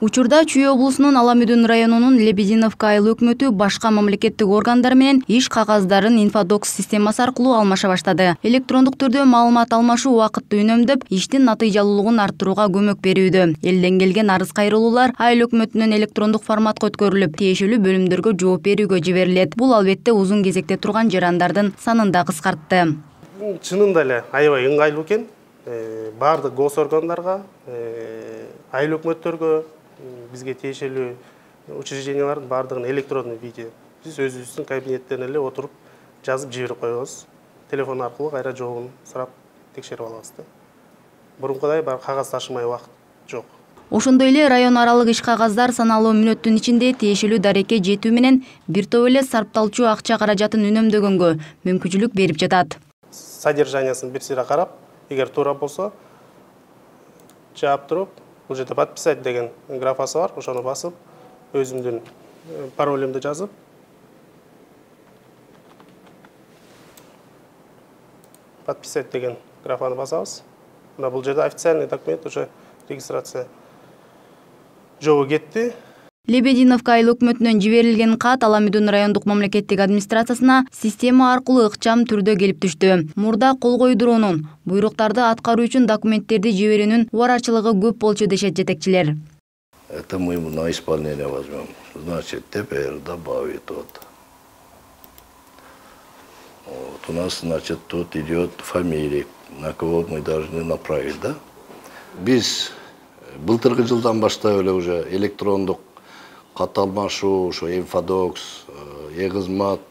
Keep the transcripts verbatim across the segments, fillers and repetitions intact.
Учурда Чүй облусунун Ала Мүдүн районунун Лебединовка айыл өкмөтү башка мамлекеттик органдар менен иш кагаздарын инфодокс системасы аркылуу алмаша баштады. Электрондук түрдө маалымат алмашуу убакытты үнөмдөп, иштин натыйжалуулугун арттырууга көмөк берүүдө. Элден келген арыз кайрылуулар айыл өкмөтүнөн электрондук форматка өткөрүлүп, тиешелүү бөлүмдөргө жооп берүүгө жиберилет. Бул албетте узун кезекте турган жарандардын санын да кыскартты. Чынында эле аябай ыңгайлуу экен. Бардык гос органдарга, айыл өкмөттөргө, бизге тиешелүү учреждениялардын бардыгын электрондуу виде биз өзүбүздүн кабинеттеринен эле отуруп жазып жиберип коебуз. Телефон аркылуу кайра жообун сурап текшерип алабыз да. Мурункудай бар кагаз ташымай убакыт жок. Ошондой эле район аралык иш кагаздар саналуу мүнөттүн ичинде тиешелүү дарекке жетүү менен бир топ эле сарпталчу акча каражатын үнөмдөгөнгө мүмкүнчүлүк берип жатат. Содержаниясын бир сыйра карап, эгер туура болсо жаап туруп, бул жерде подписать деген графасы бар, ошону басып, өзүмдүн паролумду жазып, подписать деген графаны басабыз. Мына бул жерде официальный документ, уже регистрация жообу кетти. Лебединовка айыл өкмөтүнөн жиберилген кат Ала Мүдүн райондук мамлекеттик администрациясына система аркылуу ыкчам түрдө келип түштү. Мурда кол койдуруунун, буйруктарды аткаруу үчүн документтерди жиберүүнүн убарачылыгы көп болчу дешет жетекчилер. Это мы на исполнение возьмем. Значит, теперь добавить вот. Вот у нас, значит, тут идет фамилия, на кого мы должны направить, да? Биз былтыркы жылдан баштап эле уже электрондук кат алмашуу, ошо инфодокс, э-кызмат,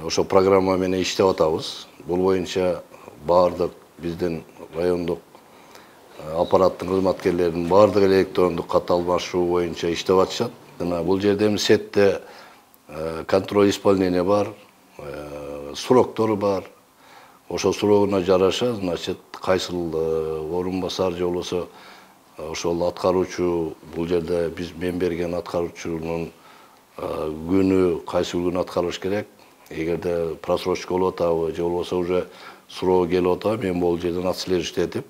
ошо программа менен иштеп атабыз. Бул боюнча бардык биздин райондук аппараттын кызматкерлеринин бардык электрондук кат алмашуу боюнча иштеп атышат. Бул жерде эми сетте контроль исполнения бар, сроктору бар. Ошо срогуна жараша, значит, кайсыл орун басар же болбосо ошол аткаруучу, бул жерде биз мен берген аткаруучунун күнү кайсы күнү аткарыш керек. Эгерде просрочка болуп атабы же болбосо уже срогу келип атабы, мен бул жерден отслеживать этип,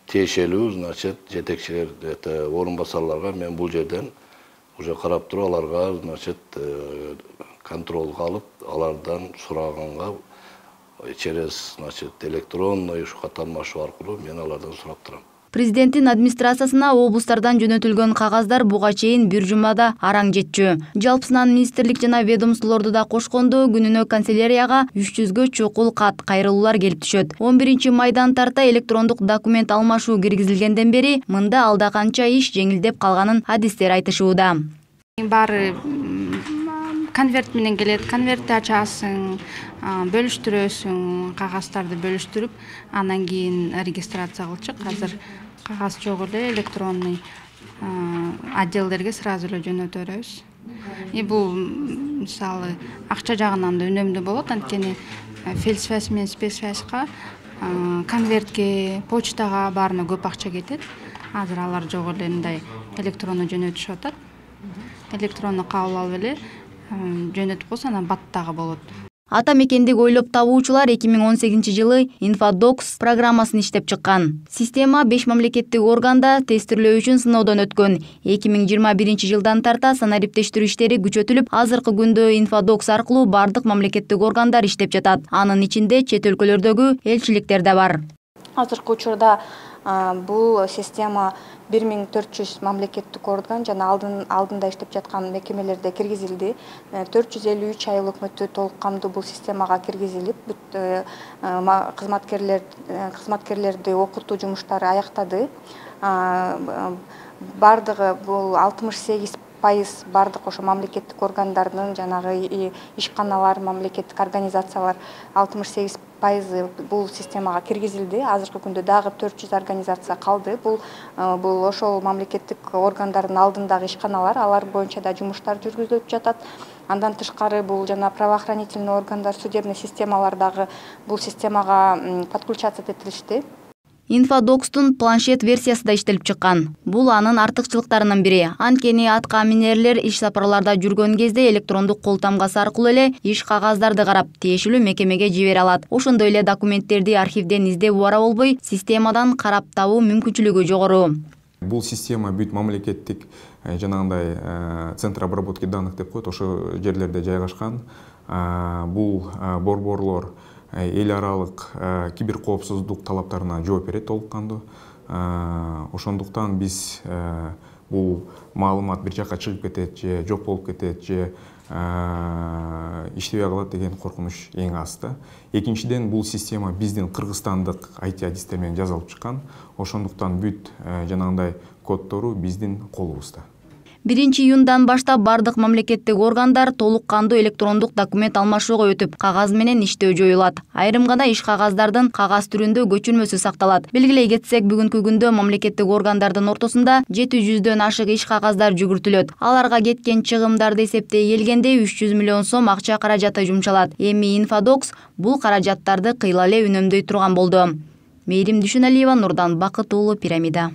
тиешелүү, значит, жетекчилер, это орун басарларга мен бул жерден уже карап туруп аларга, значит, контролго алып, алардан сураганга через, значит, электронный ушу кат алмашуу аркылуу мен алардан сурап турам. Президенттин администрациясына облустардан жөнөтүлгөн кагаздар буга чейин бир жумада араң жетчү. Жалпысынан министрлик жана ведомстволорду да кошкондо күнүнө канцелярияга үч жүзгө чукул кат кайрылуулар келип түшөт. он биринчи майдан тарта электрондук документ алмашуу киргизилгенден бери мында алда канча иш жеңилдеп калганын адистер айтышууда. Баары конверт менен келет, конвертти ачасың, бөлүштүрөсүң, кагаздарды бөлүштүрүп, анан кийин регистрация кылчык. Азыр кагаз жок эле, электронный отделдерге сразу эле жөнөтө беребиз. И бул мисалы акча жагынан да үнөмдүү болот, анткени фельсвязь менен спецсвязьга, конвертке, почтага баарына көп акча кетет. Азыр алар жок эле, мындай электронно жөнөтүшүп атат. Электронно кабыл алып эле жөнөтүп койсо анан баттагы болот. Ата мекендик ойлоп табуучулар эки миң он сегизинчи жылы инфодокс программасын иштеп чыккан. Система беш мамлекеттик органда тестирлөө үчүн сыноодон өткөн. эки миң жыйырма биринчи жылдан тарта санариптештирүү иштери күчөтүлүп, азыркы күндө инфодокс аркылуу бардык мамлекеттик органдар иштеп жатат. Анын ичинде чет өлкөлөрдөгү элчиликтер да бар. Азыркы учурда бул система бир миң төрт жүз мамлекеттик орган жана алдын алдында иштеп жаткан мекемелерде киргизилди. төрт жүз элүү үч айыл өкмөтү толук камдуу бул системага киргизилип, кызматкерлер кызматкерлерди окутуу жумуштары аяктады. Бардыгы бул алтымыш сегиз пайыз бардык ошо мамлекеттик органдардын жанагы ишканалар, мамлекеттик организациялар алтымыш сегиз пайызы бул системага киргизилди. Азыркы күндө дагы төрт жүз организация калды. Бул бул ошол мамлекеттик органдардын алдындагы ишканалар, алар боюнча да жумуштар жүргүзүлүп жатат. Андан тышкары бул жана правоохранительный органдар, судебный системалар дагы бул системага подключаться этилишти. Инфодокстун планшет версиясы да иштелип чыккан. Бул анын артыкчылыктарынын бири. Анткени атка минерлер иш сапарларда жүргөн кезде электрондук кол тамгасы аркылуу эле иш кагаздарды карап, тиешелүү мекемеге жибере алат. Ошондой эле документтерди архивден издеп убара болбой, системадан карап табуу мүмкүнчүлүгү жогору. Бул система бүт мамлекеттик жанагындай центр обработки данных деп коет, ошо жерлерде жайгашкан. Бул борборлор эл аралык киберкоопсуздук талаптарына жооп берет толук кандуу. Ошондуктан биз бул маалымат бир жакка чыгып кетет же жок болуп кетет же иштебей калат деген коркунуч эң аз да. Экинчиден, бул система биздин кыргызстандык ай ти адистер менен жасалып чыккан. Ошондуктан бүт жанагындай коддору биздин колубузда. биринчи июндан баштап бардык мамлекеттик органдар толук кандуу электрондук документ алмашууга өтүп, кагаз менен иштөө жоюлат. Айрым гана иш кагаздардын кагаз түрүндө көчүрмөсү сакталат. Белгилей кетсек, бүгүнкү күндө мамлекеттик органдардын ортосунда жети жүздөн ашык иш кагаздар жүгүртүлөт. Аларга кеткен чыгымдарды эсептей келгенде үч жүз миллион сом акча каражаты жумшалат. Эми Infodocks бул каражаттарды кыйла эле үнөмдөй турган болду. Мээрим Дүйшөналиева, Нурдан Бакыт уулу, Пирамида.